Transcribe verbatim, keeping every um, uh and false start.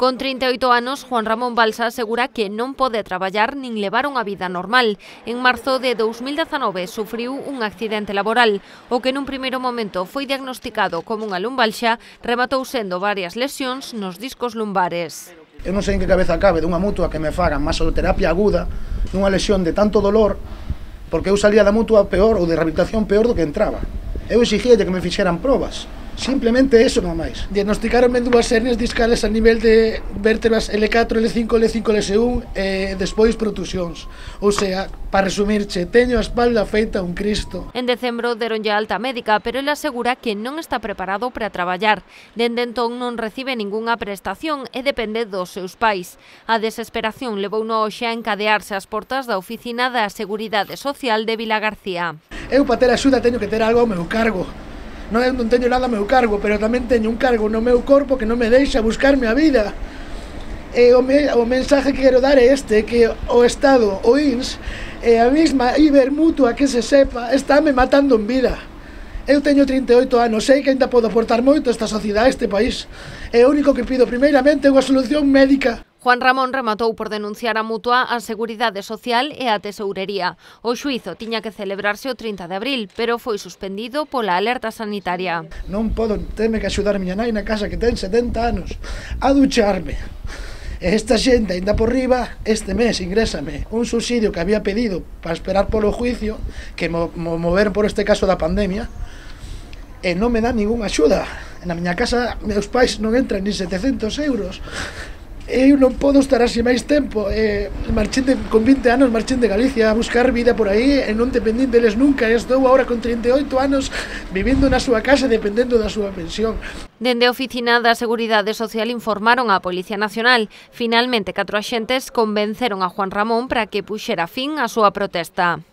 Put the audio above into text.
Con trinta e oito anos, Juan Ramón Balsa asegura que non pode traballar nin levar unha vida normal. En marzo de dous mil dezanove sufriu un accidente laboral, o que nun primeiro momento foi diagnosticado como unha lumbalxa, rematou sendo varias lesións nos discos lumbares. Eu non sei en que cabeza cabe dunha mutua que me fagan masoterapia aguda nunha lesión de tanto dolor, porque eu salía da mutua peor ou de rehabilitación peor do que entraba. Eu exigía que me fixeran probas. Simplemente eso, non máis. Diagnosticaronme dúas hernias discales a nivel de vértebras L catro, L cinco, L cinco, L un e despois protusións. Ou sea, para resumirche, teño a espalda feita un cristo. En decembro deronlle alta médica, pero ele asegura que non está preparado para traballar. Dende entón non recibe ningunha prestación e depende dos seus pais. A desesperación levouno hoxe a encadearse ás portas da oficina da Seguridade Social de Vilagarcía. Eu para ter axuda teño que ter algo ao meu cargo. Non, non teño nada ao meu cargo, pero tamén teño un cargo no meu corpo que non me deixa buscarme a vida. E o, me, o mensaje que quero dar é este, que o Estado, o I N S, e a mesma Ibermutua que se sepa, estáme matando en vida. Eu teño trinta e oito anos, sei que ainda podo aportar moito a esta sociedade, a este país. E o único que pido primeiramente é unha solución médica. Juan Ramón rematou por denunciar a Mutua a Seguridade Social e a Tesourería. O xuízo tiña que celebrarse o trinta de abril, pero foi suspendido pola alerta sanitaria. Non podo, teme que axudar a miña nai na casa que ten setenta anos a ducharme. E esta xente, ainda por riba, este mes ingrésame un subsidio que había pedido para esperar polo juicio, que mo, mo moveron por este caso da pandemia, e non me dá ninguna axuda. Na miña casa, meus pais non entran ni setecentos euros. Eu non podo estar así máis tempo. Eh, marchín de, con vinte anos marchín de Galicia a buscar vida por aí e non dependín deles nunca. Estou agora con trinta e oito anos vivindo na súa casa dependendo da súa pensión. Dende a oficina da Seguridade Social informaron á Policía Nacional. Finalmente, catro axentes convenceron a Juan Ramón para que puxera fin á súa protesta.